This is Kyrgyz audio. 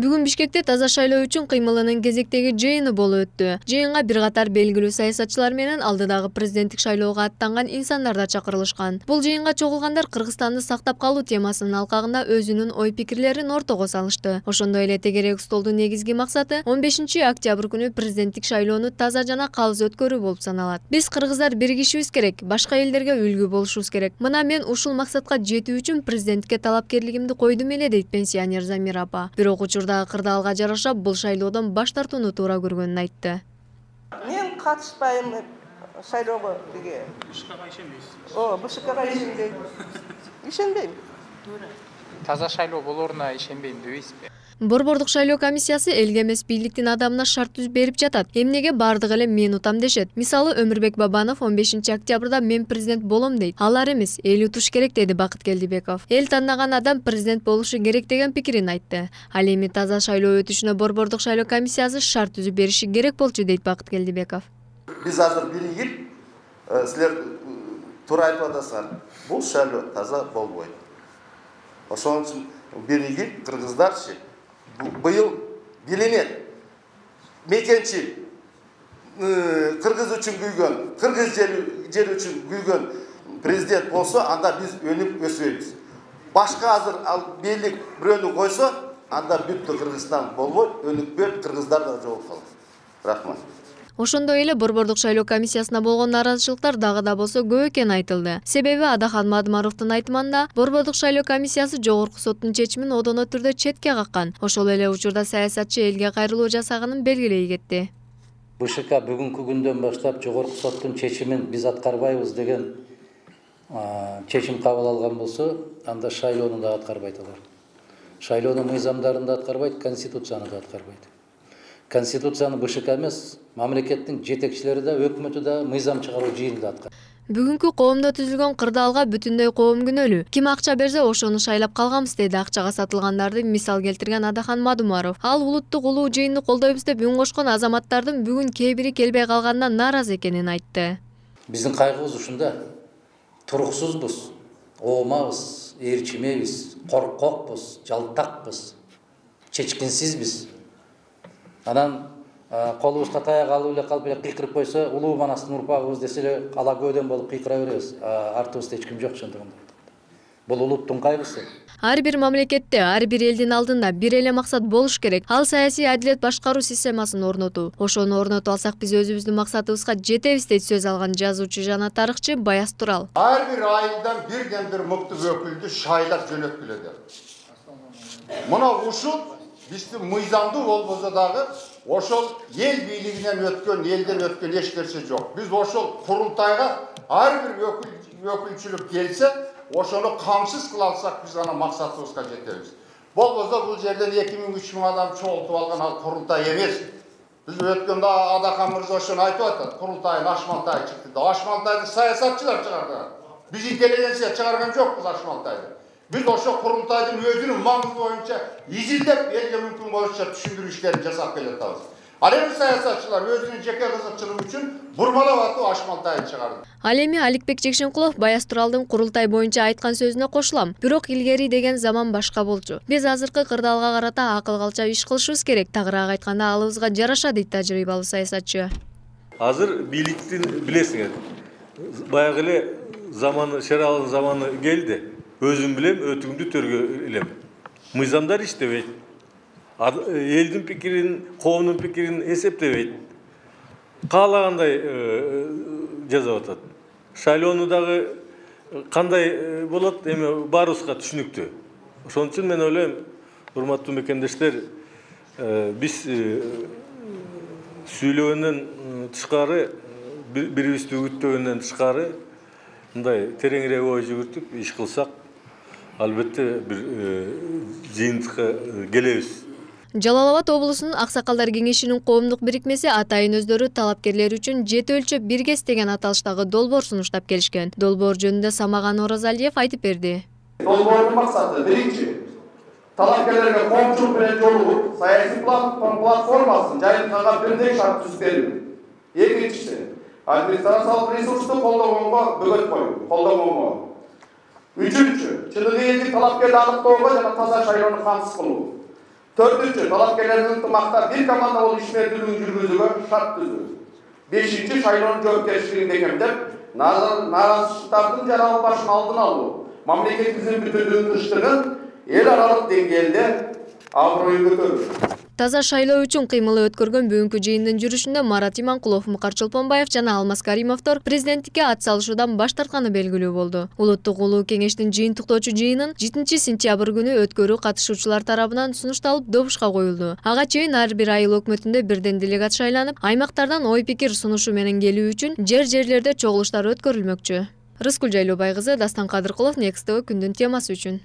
Бүгүн Бишкекте таза шайлоо үчүн кыймылынын кезектеги жыйыны болуп өттү. Жыйынга бир катар белгилүү саясатчылар менен алдыдагы президенттик шайлоого аттанган инсандар да чакырылышкан. Бул жыйынга чогулгандар Кыргызстанды сактап калуу темасынын алкагында өзүнүн ой-пикирлерин ортого салышты. Ошондой эле тегерек столдун негизги максаты 15 октябрь күнү президенттик шайлоону таза жана калыс өткөрүү болуп саналат. Биз кыргыздар биригишибиз керек, башка элдерге үлгү болушубуз керек. Мына мен ушул максатка жетүү үчүн президентке талапкерлигимди койдум эле дейт пенсионер Замира апа. Бирок учурдагы кырдаалга жараша бул шайлоодон баш тартууну туура көргөнүн айтты. Мен катышпайм шайлоого деге. БШКга ишенбейсиз? БШКга ишенбейм. Ишенбейм. Таза шайлоо болоруна ишенбейм дебейсизби? Борбордук шайлоо комиссиясы элге эмес бийликтин адамына шарт түзүп берип жатат. Эмнеге бардыгы эле мен утам дешет. Мисалы, Өмүрбек Бабанов 15 октябрда мен президент болом дейт. Алар эмес, эл утуш керек деди Бакыт Келдибеков. Эл тандаган адам президент болушу керек деген пикирин айтты. Ал эми таза шайлоо өтүшүнө борбордук шайлоо комиссиясы шарт түзүп бериши керек болчу дейт Бакыт Келдибеков. Биз азыр биригип, силер туура айтып атасыңар. Бул шайлоо таза болбойт. Ошон үчүн биригип кыргыздарчы быйыл биленет. Мекенчил кыргыз үчүн күйгөн, кыргыз жери үчүн күйгөн президент болсо, анда биз өнүп өсөбүз. Башка азыр ал бийлик бирөөнү койсо, анда бүттү Кыргызстан болбойт, өнүкпөйт, кыргыздар да жолуп калат. Рахмат. Ошондой эле борбордук шайлоо комиссиясына болгон нааразычылыктар дагы да болсо көп экени айтылды. Себеби Адахан Мадымаровдун айтымында борбордук шайлоо комиссиясы жогорку соттун чечимин одоно түрдө четке каккан. Ошол эле учурда саясатчы элге кайрылуу жасаганын белгилей кетти. БШК бүгүнкү күндөн баштап жогорку соттун чечимин биз аткарбайбыз деген чечим кабыл алган болсо, анда шайлоону да аткарбайт алар. Шайлоонун мыйзамдарын да аткарбайт, конституцияны да аткарбайт. Конституцияны БШК эмес, мамлекеттин жетекчилери да, өкмөтү да, мыйзам чыгаруу жыйыны да аткарат. Бүгүнкү коомдо түзүлгөн кырдаалга бүтүндөй коом күнөөлүү. Ким акча берсе, ошону шайлап калганбыз деди акчага сатылгандарды мисал келтирген Адахан Мадымаров. Ал улуттук улуу жыйынды колдойбуз деп үн кошкон азаматтардын бүгүн кээ бири келбей калганына нааразы экенин айтты. Биздин кайгыбыз ушунда. Туруксузбуз, оомабыз, ээрчимебиз, коркокпуз, жалтакпыз, чечкинсизбиз. Анан колубузга таяк алып эле калып эле кыйкырып койсо, улуу манастын урпагыбыз десе эле ала көдөн болуп кыйкыра беребиз. Артыбызда эч ким жок ошондогондо. Бул улуттун кайгысы. Ар бир мамлекетте, ар бир элдин алдында бир эле максат болуш керек. Ал саясий адилет башкаруу системасын орнотуу. Ошону орнотуп алсак биз өзүбүздүн максатыбызга жетебиз дейт сөз алган жазуучу жана тарыхчы Баяз Турал. Ар бир айылдан бирден бир мыкты өкүлдү шайлап жөнөткүлө деп. Мына ушул биздин мыйзамдуу болбосо дагы ошол эл бийлигинен өткөн, элден өткөн эч нерсе жок. Биз ошол курултайга ар бир өкүлчүлүк келсе, ошону камсыз кыла алсак, биз ана максатыбызга жетебиз. Болбосо бул жерден 2000-3000 адам чогултуп алган ал курултай эмес. Биз өткөндө Адахан мырза ошону айтып атат. Курултайдын ашмантай чыкты да. Ашмантайды саясатчылар чыгарды. Биз интеллигенция чыгарган жокпуз ашмантайды. Биз ошо курултайдын өзүнүн маңызы боюнча изилдеп элге мүмкүн болушунча түшүндүрүү иштерин жасап келатабыз. Ал эми саясатчылар өзүнүн жеке кызыкчылыгы үчүн бурмалап атып ашмантайды чыгарды. Ал эми Аликбек Жекшенкулов Баяз Туралдын курултай боюнча айткан сөзүнө кошулам. Бирок илгери деген заман башка болчу. Биз азыркы кырдаалга карата акыл калча иш кылышыбыз керек. Тагыраак айтканда алыбызга жараша дейт тажрыйбалуу саясатчы. Азыр бийликтин билесиңер, баягы эле заманы, Шералдын заманы келди. Өзүм билем, өтүңдү төргө илем. Мыйзамдар иштебейт. Элдин пикирин, коомдун пикирин эсептебейт. Каалагандай жасап атат. Шайлоону дагы кандай болот, эми баарыбызга түшүнүктүү. Ошон үчүн мен ойлойм, урматтуу мекендештер, биз сүйлөгөндөн тышкары, бирибизди үгүттөгөндөн тышкары, мындай тереңирээк ой жүгүртүп иш кылсак, албетте бир жыйынтыкка келебиз. Жалал Абад облусунун Аксакалдар кеңешинин коомдук бирикмеси атайын өздөрү талапкерлер үчүн 7 өлчөп 1 кес деген аталыштагы долбоор сунуштап келишкен. Долбоор жөнүндө Самаган Оразалиев айтып берди. Долбоордун максаты биринчи, талапкерлерге коомчулук менен жолугуп, саясий платформасын жайылтканга бирдей шарт түзүп берүү. Экинчиси, администрациялык ресурсту колдогонго бөгөт коюу, колдогонго. Үчүнчү, чыныгы элдик талапкерди аныктоого жана таза шайлоону камсыз кылуу. 4-чү, талапкерлердин ынтымакта бир команда болуп ишмердүүлүгүн жүргүзүүгө шарт түзүү. 5-чи, шайлоонун жоопкерчилигин бекемдеп, наразычылыктардын жаралып башын алдын алуу, мамлекетибиздин бүтүндүгүн тынчтыгын эл аралык деңгээлде аброюн көтөрүү. Таза шайлоо үчүн кыймылы өткөргөн бүгүнкү жыйындын жүрүшүндө Марат Иманкулов, Мукар Чолпонбаев жана Алмаз Каримовдор президенттикке ат салышуудан баш тартканы белгилүү болду. Улуттук улуу кеңештин жыйынтыктоочу жыйынын 7-сентябрь күнү өткөрүү катышуучулар тарабынан сунушталып добушка коюлду. Ага чейин ар бир айыл өкмөтүндө бирден делегат шайланып, аймактардан ой-пикир сунушу менен келүү үчүн жерлерде чогулуштар өткөрүлмөкчү. Рыскүл Жайлообай кызы, Дастан Кадыркулов, Next TV күндүн темасы үчүн.